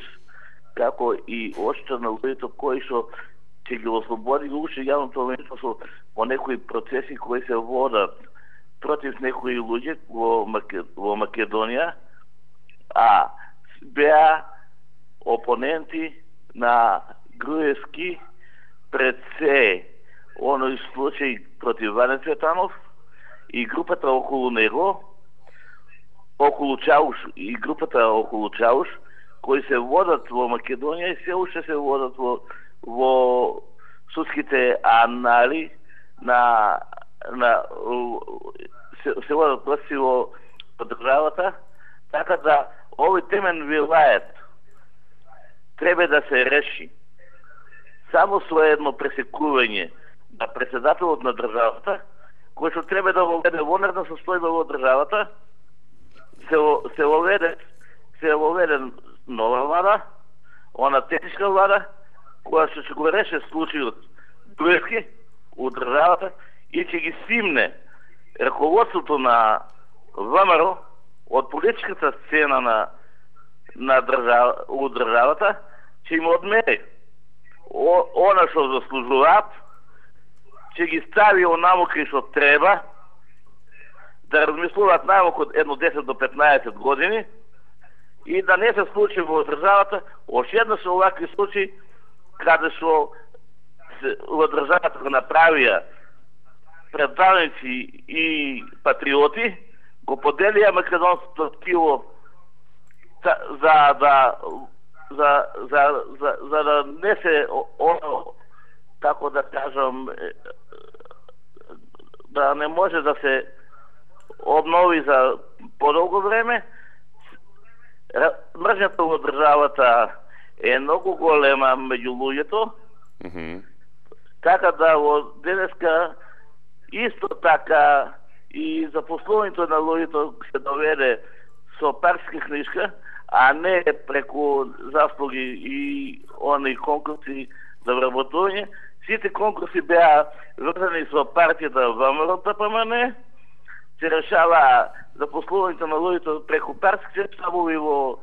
S19: како и ошта на луѓето кои што ќе ги ослободи уште јавното обвинителство по некои процеси кои се водат против некои луѓе во, Макед... во Македонија, а беа опоненти на Груевски пред се оној случај против Ване Цветанов и групата околу него, околу Чауш и групата околу Чауш, кои се водат во Македонија и се уште се водат во, во судските анали на, на се, се водат власти во државата, така да овој темен вилает треба да се реши само со едно пресекување на председателот на државата, кој што треба да воведе вонредна состојба во државата, се, се воведе се воведе нова влада, она техничка влада, која што ќе го реше случајот Груевски од државата и ќе ги симне раководството на ВМРО од политичката сцена на на држава, од државата, ќе им одмери О, она што заслужуваат, ќе ги стави онаму кај што треба, да размислуваат најмалку од едно десет до петнаесет години и да не се случи во државата ошто еднаш овакви случаи каде што во државата го направија предавници и патриоти, го поделија македонското ткиво за да за, за, за, за да не се оно, како да кажам, да не може да се обнови за подолго време. Мржата во државата е многу голема меѓу луѓето,
S1: Mm-hmm.
S19: така да во денеска исто така и запослувањето на луѓето се доведе со партиска книжка, а не преку заслуги и они конкурси за вработување. Сите конкурси беа врзани со партијата ВМРО-ДПМН, се решава запослувањето на луѓето преку партиски штабови во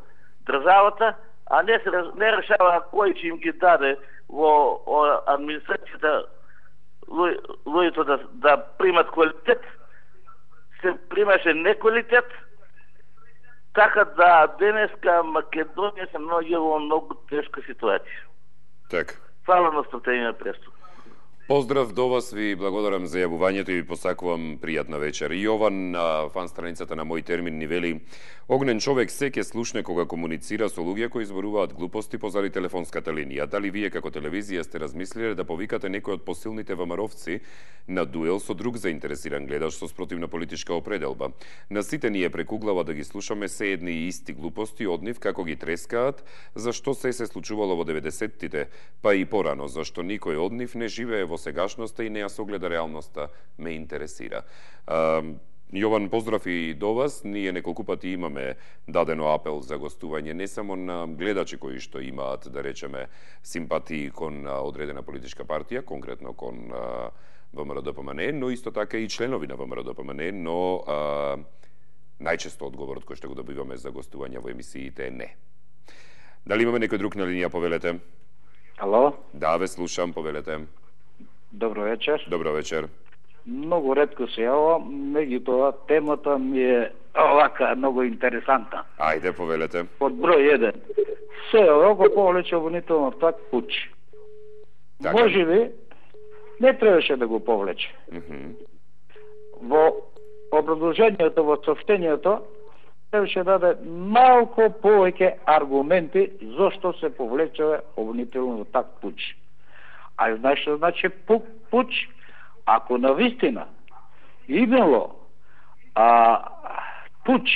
S19: државата, а не се не решава кој ќе им ги даде во администрацијата луѓето да, да примат квалитет. Се примаше неквалитет, така да денеска Македонија се наоѓа во многу тешка ситуација.
S1: Така.
S19: Фала на стратегија престо.
S1: Поздрав до вас, ви благодарам за јавувањето и ви посакувам пријатна вечер. Јован на фан страницата на Мој термин ни вели: огнен човек се ќе слушне кога комуницира со луѓе кои зборуваат глупости позади телефонската линија. Дали вие како телевизија сте размислиле да повикате некој од посилните ВМРО-вци на дуел со друг заинтересиран гледач со спротивна политичка определба? На сите ние преку глава да ги слушаме се едни и исти глупости од нив како ги трескаат, зашто се се случувало во деветдесеттите, па и порано, зашто никој од нив не живее во сегашноста и не ја согледа реалноста, ме интересира. Јован, поздрав и до вас. Ние неколку пати имаме дадено апел за гостување не само на гледачи кои што имаат, да речеме, симпатии кон одредена политичка партија, конкретно кон ВМРО-ДПМН, но исто така и членови на ВМРО-ДПМН, но а, најчесто одговорот кој што го добиваме за гостување во емисиите е не. Дали имаме некој друг на линија, повелете?
S20: Ало?
S1: Да, ве слушам, повелете.
S20: Добро вечер.
S1: Добро вечер.
S20: Многу ретко се јавам, меѓутоа темата ми е овака многу интересантна.
S1: Ајде, повелете.
S20: Под број еден. Се овако повлече обвинително так пуч.
S1: Така.
S20: Може би не требаше да го повлече.
S1: Mm-hmm.
S20: Во образложението, во сообщението, требаше да даде малку повеќе аргументи зошто се повлече обвинително так пуч. А знаеш што значи пуч? Ако навистина имало а, пуч,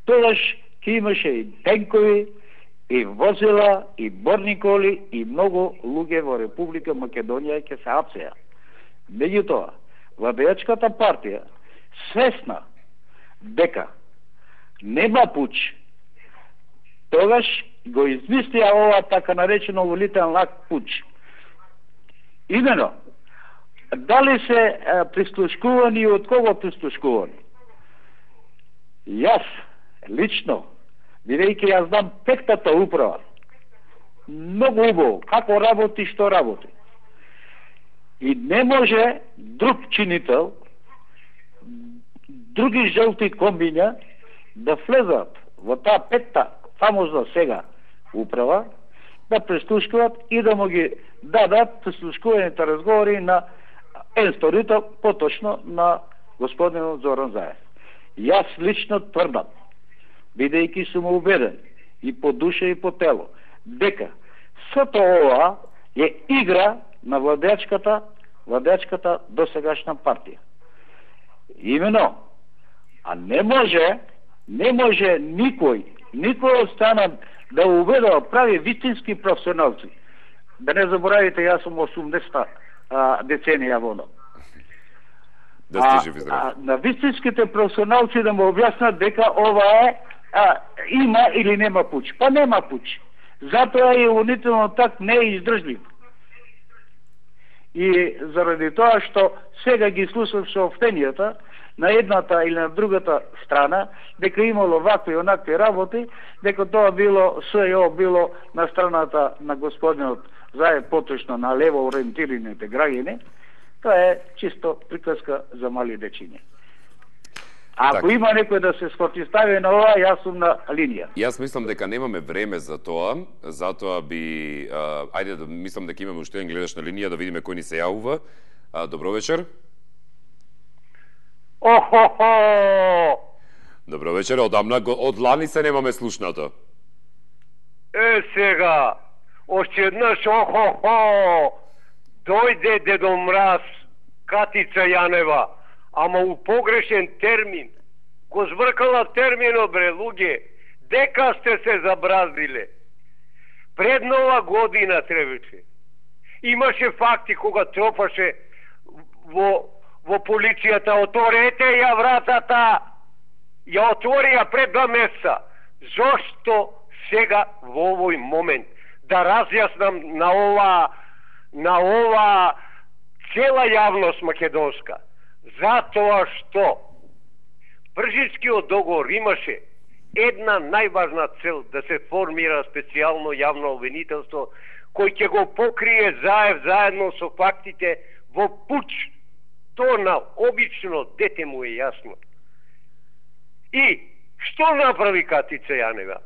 S20: тогаш ќе имаше и тенкови, и возила, и борни коли, и многу луѓе во Република Македонија ќе се апсеа. Меѓутоа, владеачката партија, свесна дека нема пуч, тогаш го измислија ова така наречено улитен лак пуч. Имено, дали се е, прислушкувани и од кого прислушкувани? Јас, лично, бидејќи јас знам петтата управа, многу убаво, како работи, што работи. И не може друг чинител, други жълти комбиња да влезат во таа петта фамозна сега управа, да прислушкуват и да му ги дадат прислушкуваните разговори на енсторито, поточно на господинот Зоран Заев. Јас лично тврдам, бидејќи сум убеден и по душа и по тело, дека сето ова е игра на владеачката, владеачката досегашна партија. Имено, а не може, не може никој, никој од страна да уведува прави вистински професионалци. Да не заборавите, јас сум осумдесета деценија воно.
S1: Да сте живи здрави.
S20: А, на вистинските професионалци да му објаснат дека ова е а, има или нема пуч. Па нема пуч. Затоа и унително так не е издржлив. И заради тоа што сега ги слушам сообщенијата на едната или на другата страна, дека имало вакви и онакви работи, дека тоа било СЈО било на страната на господинот Заев, поточно на лево ориентираните граѓани, тоа е чисто приказка за мали дечиња. Ако
S1: так.
S20: Има некој да се спротивстави на ова, јас сум на линија.
S1: Јас мислам дека немаме време за тоа, затоа би а, ајде да мислам дека имаме уште еден гледач на линија да видиме кој ни се јавува. А, добро вечер.
S20: Охо-хо!
S1: Добро вечер, одамна од лани се немаме слушнато.
S21: Е, сега, още еднаш, охо-хо, дојде Дедо Мраз, Катица Јанева, ама у погрешен термин. Го збркала термино, бре, луѓе, дека сте се забразиле. Пред нова година требаше. Имаше факти кога тропаше во, во полицијата, отворете ја вратата, ја отворија пред два месеца. Зошто сега во овој момент да разјаснам на ова на ова цела јавност македонска? Затоа што Пржинскиот договор имаше една најважна цел, да се формира специјално јавно обвинителство кој ќе го покрие Заев заедно со фактите во пуч. То на обично дете му е јасно. И што направи Катица Јанева?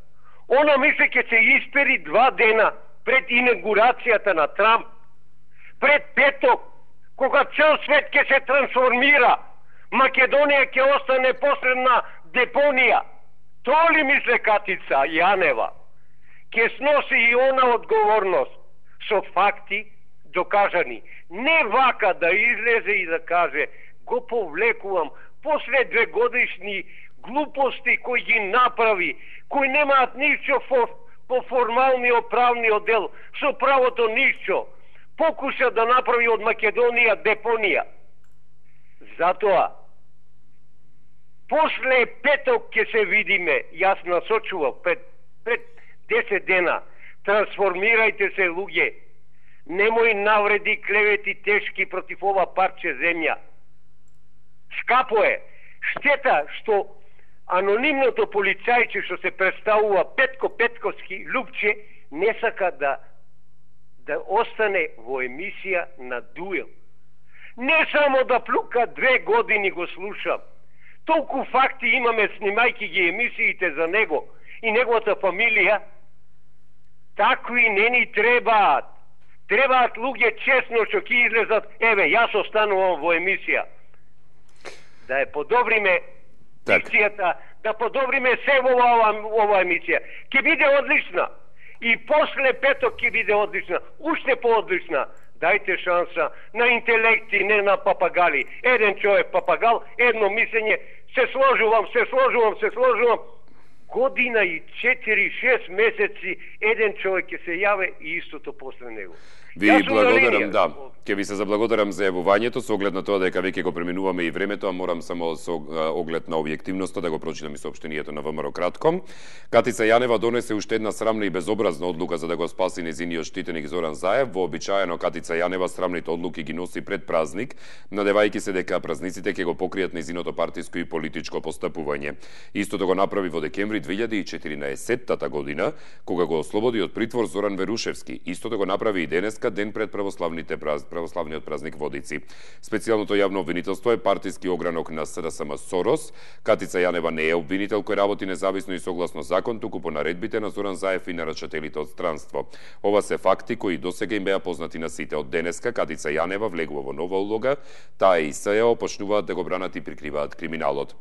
S21: Она мисле ќе се испери два дена пред инаугурацијата на Трамп, пред петок, кога цел свет ќе се трансформира, Македонија ќе остане посредна депонија. Тоа ли мисле Катица Јанева? Ќе сноси и она одговорност со факти докажани. Не вака да излезе и да каже го повлекувам после две годишни глупости кои ги направи, кои немаат ништо по формалниот правниот дел, со правото ништо. Покуша да направи од Македонија депонија. Затоа, после петок ќе се видиме, јас насочував пред, пред десет дена, трансформирајте се, луѓе, немој навреди, клевети тешки против ова парче земја. Скапо е, штета што анонимното полицајче што се представува Петко Петковски Лупче не сака да да остане во емисија на дуел. Не само да плука, две години го слушам. Толку факти имаме снимајки ги емисиите за него и неговата фамилија. Такви не ни требаат. Требаат луѓе честно што ќе излезат. Еве, јас останувам во емисија. Да ја подобриме дикцијата, да подобриме се во ова, ова емисија. Ќе биде одлична. И после петок ќе биде одлична. Уште поодлична. Дајте шанса на интелекти, не на папагали. Еден човек папагал, едно мислење, се сложувам, се сложувам, се сложувам. Година и четири-шест месеци еден човек ќе се јаве и истото после него.
S1: Ви благодарам, да. Ќе ви се заблагодарам за јавувањето, со оглед на тоа дека веќе го преминуваме и времето, а морам само со оглед на објективноста да го прочитам и соопштението на ВМРО кратко. Катица Јанева донесе уште една срамна и безобразна одлука за да го спаси незиниот штитеник Зоран Заев. Вообичаено Катица Јанева срамните одлуки ги носи пред празник, надевајќи се дека празниците ќе го покријат незиното партиско и политичко постапување. Истото го направи во декември две илјади и четиринаесеттата година, кога го ослободи од притвор Зоран Верушевски. Истото го направи и денеска, ден пред православните праз... православниот празник Водици. Специјалното јавно обвинителство е партиски огранок на СДСМ Сорос. Катица Јанева не е обвинител кој работи независно и согласно закон, туку по наредбите на Зоран Заев и нарачателите од странство. Ова се факти кои досега им беа познати на сите. Од денеска Катица Јанева влегува во нова улога, таа и СЈО почнуваат да го бранат и прикриваат криминалот.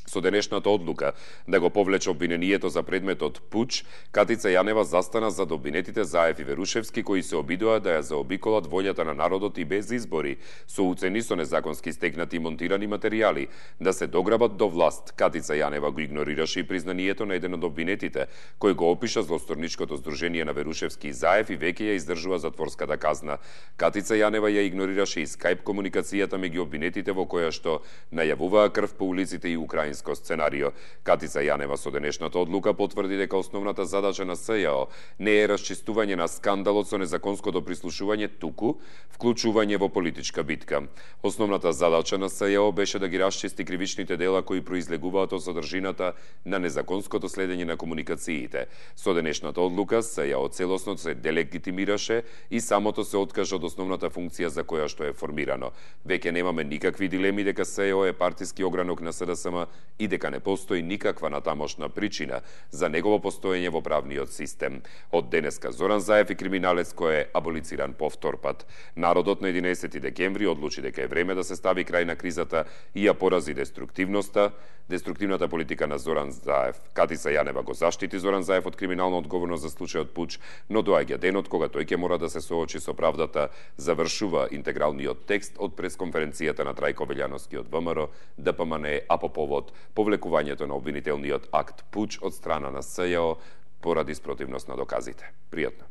S1: Со денешната одлука да го повлече обвинението за предметот пуч, Катица Јанева застана зад обвинетите Заев и Верушевски кои се обидоа да ја заобиколат волјата на народот и без избори, со уцени со незаконски стекнати и монтирани материјали, да се дограбат до власт. Катица Јанева го игнорираше и признанието на еден од обвинетите, кој го опиша злосторничкото здружение на Верушевски и Заев и веќе ја издржува затворската казна. Катица Јанева ја игнорираше и скајп комуникацијата меѓу обвинетите во која што најавуваа крв по улиците и украински сценарио. Катица Јанева со денешната одлука потврди дека основната задача на СЈО не е расчистување на скандалот со незаконското прислушување, туку вклучување во политичка битка. Основната задача на СЈО беше да ги расчисти кривичните дела кои произлегуваат од содржината на незаконското следење на комуникациите. Со денешната одлука СЈО целосно се делегитимираше и самото се откажа од основната функција за која што е формирано. Веќе немаме никакви дилеми дека СЈО е партиски огранок на СДСМ и дека не постои никаква натамошна причина за негово постоење во правниот систем. Од денеска Зоран Заев и криминалец кој е аболициран повтор пат. Народот на единаесети декември одлучи дека е време да се стави крај на кризата и ја порази деструктивноста, деструктивната политика на Зоран Заев. Катица Јанева го заштити Зоран Заев од криминална одговорност за случајот Пуч, но доаѓа денот кога тој ќе мора да се соочи со правдата, завршува интегралниот текст од пресконференцијата на Трајко Велјановски од ВМРО, ДПМН, а по повод повлекувањето на обвинителниот акт Пуч од страна на СЈО поради спротивност на доказите. Пријатно.